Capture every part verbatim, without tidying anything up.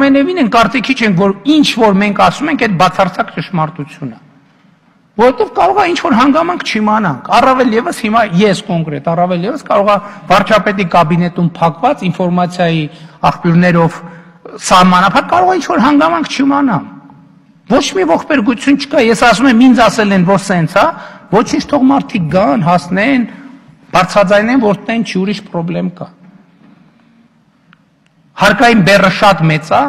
Ամենևին են կարծիքի չենք, որ ինչ որ մենք ասում ենք, այդ բացարձակ ճշմարտություն է։ Որովհետև կարող է ինչ որ հանգամանք չիմանանք։ Առավել եւս հիմա ես կոնկրետ, առավել եւս կարող է վարչապետի կաբինետում փակված ինֆորմացիայի աղբյուրներով սահմանափակ կարող է ինչ որ հանգամանք չիմանամ։ Ոչ մի ողբերգություն չկա, ես ասում եմ, ինձ ասել են, որ սենց է, ոչինչ թող մարդիկ գան, հասնեն, բարձրաձայնեն, որ տեն չի ուրիշ խնդրեմ կա։ Հարկային բեռը շատ մեծ է։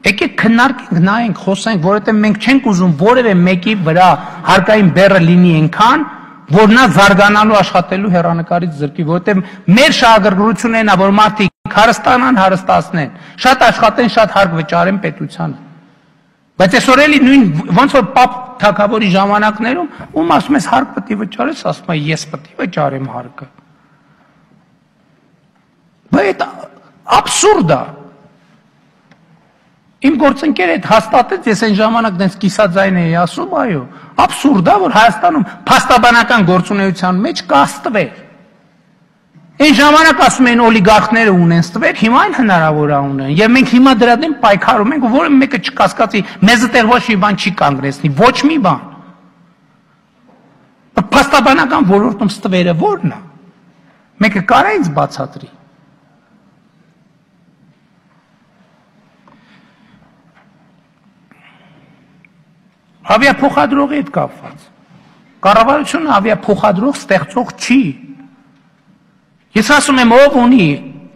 Եկեք քննարկենք, նայենք, խոսենք, որովհետև մենք չենք ուզում որևէ մեկի վրա հարկային բեռը լինի այնքան, որ նա զարգանալու աշխատելու հեռանկարից զրկի, որովհետև մեր շահագրգռությունն է, որ մարդիկ հարստանան, հարստացնեն, շատ աշխատեն, շատ հարկ վճարեն պետությանը։ Բայց այսօր էլի նույն ոնց որ պապ թագավորի ժամանակներում, ում ասում ես հարկ պետք է վճարես, ասում է ես պետք է վճարեմ հարկը։ Բայց աբսուրդ է։ Իմ գործընկերը այդ հաստատեց, ես այն ժամանակ դες կիսաձայն էի ասում, այո, աբսուրդ է, որ Հայաստանում փաստաբանական գործունեության մեջ կա ստվեր։ Այն ժամանակ ասում են օլիգարխները ունեն ստվեր, հիմա այն հնարավոր է ունեն։ Եվ մենք հիմա դրա դեմ պայքարում ենք, որը մեկը չկասկածի, մեզ այդտեղ ոչ մի բան չի կանգնեցնի, ոչ մի բան։ Փաստաբանական ոլորտում ստվերը ո՞րն է։ Մեկը կարա ինձ բացատրի։ Ավիափոխադրողի հետ կապված։ Կառավարությունը ավիափոխադրող ստեղծող չի։ Ես ասում եմ, ով ունի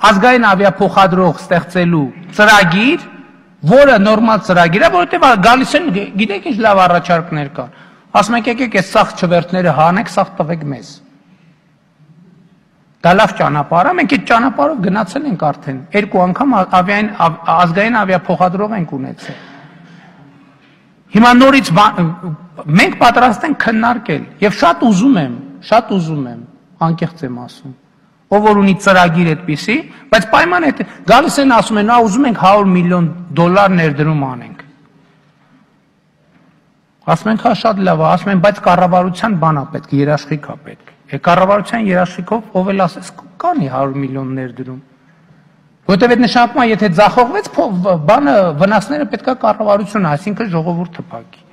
ազգային ավիափոխադրող ստեղծելու ծրագիր, որը նորմալ ծրագիր է, որովհետև գալիս են, գիտեք ինչ լավ առաջարկներ կան։ Ասում եք, եկեք այս սաղ չվերթները հանեք, սաղ տվեք մեզ։ Դա լավ ճանապարհ է, մենք այդ ճանապարհով գնացել ենք արդեն։ Երկու անգամ ազգային ավիափոխադրող ենք ունեցել։ Հիմա նորից մենք պատրաստ ենք քննարկել եւ շատ ուզում եմ, շատ ուզում եմ, անկեղծ եմ ասում, ով որ ունի ծրագիր այդպիսի, բայց պայմանը է գալիս են ասում են, «Ա ուզում ենք հարյուր միլիոն դոլար ներդրում անենք»։ Ասում ենք, հա շատ լավ է, ասում են, բայց կառավարության բան է պետք, երաշխիք է պետք։ Է կառավարության երաշխիքով ով էլ ասես կանի հարյուր միլիոն ներդրում։ Որտեւ այդ նշանակում է, եթե ձախողվեց, բանը վնասները պետք է կառավարությունը, այսինքն ժողովուրդը փակի։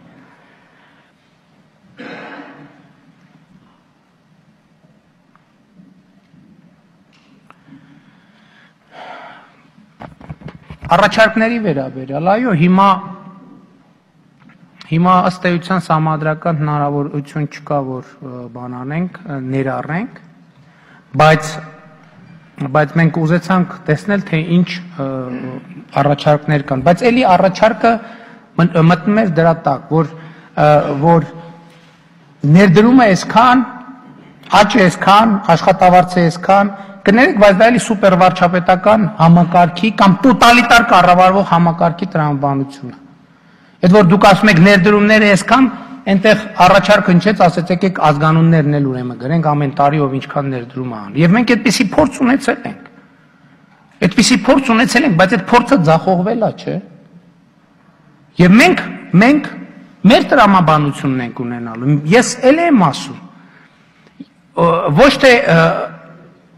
Առաջարկների վերաբերյալ, այո, հիմա հիմա ըստ էության սահմանադրական հնարավորություն չկա, որ բան անենք, ներառենք, բայց բայց մենք ուզեցանք տեսնել, թե ինչ առաջարկներ կան, բայց էլի առաջարկը մտնում էր դրա տակ, որ որ ներդրումը այսքան, աճը այսքան, աշխատավարձը այսքան, կներեք, բայց դա էլի սուպեր վարչապետական համակարգի կամ տոտալիտար կառավարվող համակարգի տրամաբանություն է։ Այդ որ դուք ասում եք ներդրումները այսքան, այնտեղ առաջարկ հնչեց, ասեց եկեք ազգանուններն էլ ուրեմն գրենք ամեն տարի ով ինչքան ներդրում է անում։ Եվ մենք այդպիսի փորձ ունեցել ենք։ Այդպիսի փորձ ունեցել ենք, բայց այդ փորձը ձախողվել է, չէ՞։ Եվ մենք մենք մեր տրամաբանությունն ենք ունենալու։ Ես էլ եմ ասում։ Ոչ թե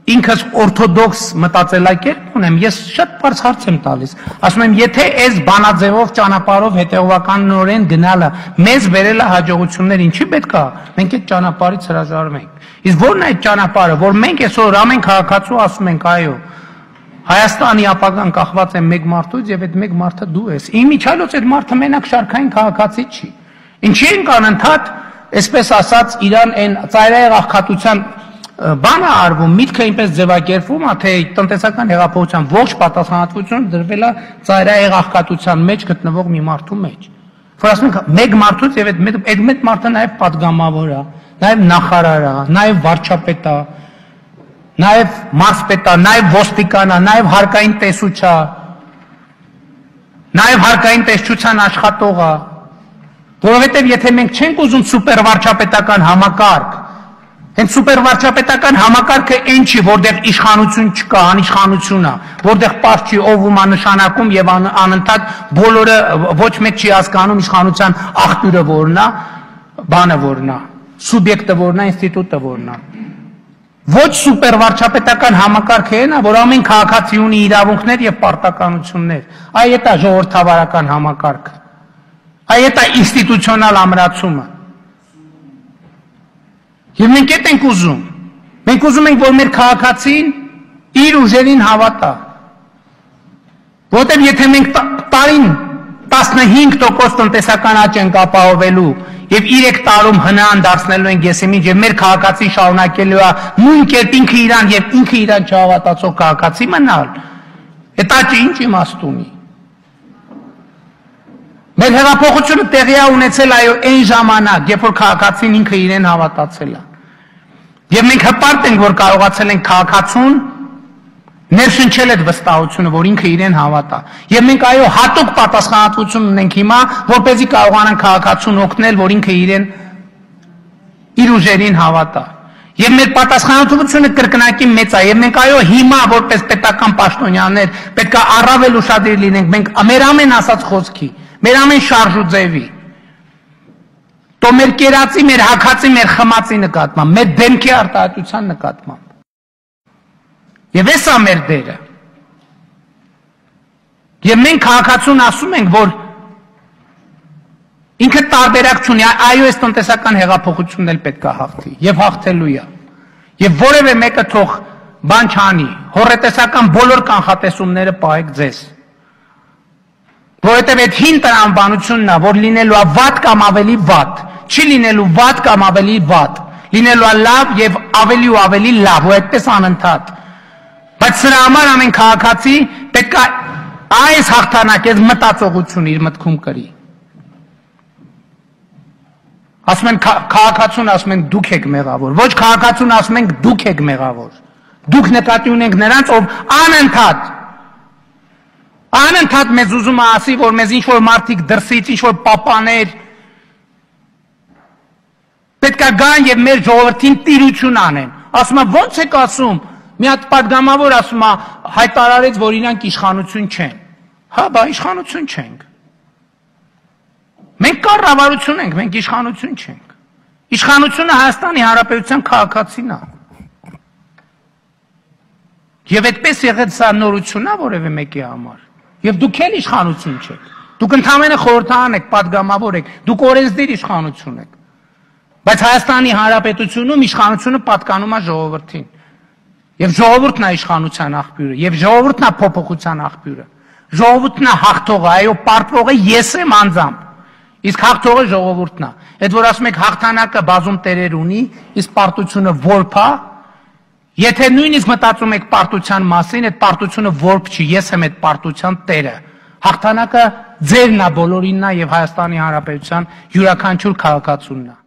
ինքս օրթոդոքս մտածելակերպ ունեմ, ես շատ բարձ հարց եմ տալիս։ Ասում եմ, եթե այս բանաձևով ճանապարհով հետևականորեն գնալը մեզ բերել է հաջողություններ, ինչի պետք է մենք այդ ճանապարհից հրաժարվենք։ Իսկ ո՞րն է այդ ճանապարհը, որ մենք այսօր ամեն քաղաքացու ասում ենք, այո, Հայաստանի ապագան կախված է մեկ մարդուց եւ այդ մեկ մարդը դու ես։ Իմիջիալոց այդ մարդը մենակ շարքային քաղաքացի չի։ Ինչի ենք անընդհատ, այսպես ասած, իրան այն ծայրահեղ աղքատության բանը արվում, միտքը այնպես ձևակերպվում է, թե տնտեսական հեղափոխության ողջ պատասխանատվությունը դրվել է ծայրահեղ աղքատության մեջ գտնվող մի մարդու մեջ։ Որ ասում ենք, մեկ մարդուց եւ այդ մեկ մարդը նաեւ պատգամավոր է, նաեւ նախարար է, նաեւ վարչապետ է, նաեւ մարզպետ է, նաեւ ոստիկան է, նաեւ հարկային տեսուչ է, նաեւ հարկային տեսչության աշխատող է։ Որովհետեւ եթե մենք չենք ուզում սուպեր վարչապետական համակարգ, հենց սուպեր վարչապետական համակարգը այն չի, որտեղ իշխանություն չկա, անիշխանություն է, որտեղ պարզ չի ով ում նշանակում եւ անընդհատ բոլորը ոչ մեկ չի հասկանում իշխանության աղբյուրը որն է, բանը որն է, սուբյեկտը որն է, ինստիտուտը որն է։ ոչ սուպեր վարչապետական համակարգը է նա, որ ամեն քաղաքացի ունի իրավունքներ եւ պարտականություններ։ Այ դա ժողովրդավարական համակարգը։ Այ դա ինստիտուցիոնալ ամրացումը։ Եվ մենք այդ ենք ուզում։ Մենք ուզում ենք, որ մեր քաղաքացին իր ուժերին հավատա։ Որտեղ եթե մենք տարին տասնհինգ տոկոս տնտեսական աճ ենք ապահովելու եւ երեք տարում հնան դարձնելու ենք եսիմին եւ մեր քաղաքացին շարունակելու է նույն կերպ ինքը իրան եւ ինքը իրան չհավատացող քաղաքացի մնալ, այդ աճը ինչ իմաստ ունի։ Մեր հեղափոխությունը տեղի է ունեցել այո այն ժամանակ, երբ որ քաղաքացին ինքը իրեն հավատացել է։ Եվ մենք հպարտ ենք, որ կարողացել ենք քաղաքացուն ներշնչել այդ վստահությունը, որ ինքը իրեն հավատա։ Եվ մենք այո հատուկ պատասխանատվություն ունենք հիմա, որպեսզի կարողանանք քաղաքացուն օգնել, որ ինքը իրեն իր ուժերին հավատա։ Եվ մեր պատասխանատվությունը կրկնակի մեծ է, եւ մենք այո հիմա որպես պետական պաշտոնյաներ պետք է առավել ուշադիր լինենք մենք մեր ամեն ասած խոսքի, մեր ամեն շարժ ու ձևի։ Տո մեր կերածի, մեր հակացի, մեր խմացի նկատմամբ, մեր դեմքի արտահայտության նկատմամբ։ Եվ էս է մեր դերը։ Եվ մենք քաղաքացուն ասում ենք, որ ինքը տարբերակ չունի, այո այս տնտեսական հեղափոխությունն էլ պետք է հաղթի, եւ հաղթելու է։ Եվ որևէ մեկը թող բան չանի, հոռետեսական բոլոր կանխատեսումները պահեք ձեզ։ Որովհետև այդ հին տրամաբանությունն է, որ լինելու է վատ կամ ավելի վատ, չի լինելու վատ կամ ավելի վատ, լինելու է լավ եւ ավելի ու ավելի լավ, ու այդպես անընդհատ։ Բայց սրա համար ամեն քաղաքացի պետք է այս հաղթանակից մտածողություն իր մտքում կրի։ Ասում են քաղաքացուն ասում են դուք եք մեղավոր, ոչ քաղաքացուն ասում ենք դուք եք մեղավոր։ Դուք նկատի ունենք նրանց, ով անընդհատ Անընդհատ մեզ ուզում է ասի, որ մեզ ինչ-որ մարդիկ դրսից, ինչ-որ պապաներ պետք է գան եւ մեր ժողովրդին տիրություն անեն։ Ասում է ո՞նց եք ասում։ Մի հատ падգամավոր ասում է հայտարարեց, որ իրանք իշխանություն չեն։ Հա, բա իշխանություն չենք։ Մենք կառավարություն ենք, մենք իշխանություն չենք։ Իշխանությունը Հայաստանի Հանրապետության քաղաքացին է։ Եվ այդպես եղել սա նորություն է որևէ մեկի համար։ Եվ դուք էլ իշխանություն չեք։ Դուք ընդհանրապես խորհրդան եք, падգամավոր եք, դուք օրենսդիր իշխանություն եք։ Բայց Հայաստանի Հանրապետությունում իշխանությունը պատկանում է ժողովրդին։ Եվ ժողովուրդն է իշխանության աղբյուրը, եւ ժողովուրդն է փոփոխության աղբյուրը։ Ժողովուրդն է հաղթողը, այո, պարտվողը ես եմ անձամբ։ Իսկ հաղթողը ժողովուրդն է։ Այդ որ ասում եք հաղթանակը բազում տերեր ունի, իսկ պարտությունը որբ է։ Եթե նույնիսկ մտածում եք պարտության մասին, այդ պարտությունը որբ չի, ես եմ այդ պարտության տերը։ Հաղթանակը ձերն է, բոլորինն է եւ Հայաստանի Հանրապետության յուրաքանչյուր քաղաքացունն է։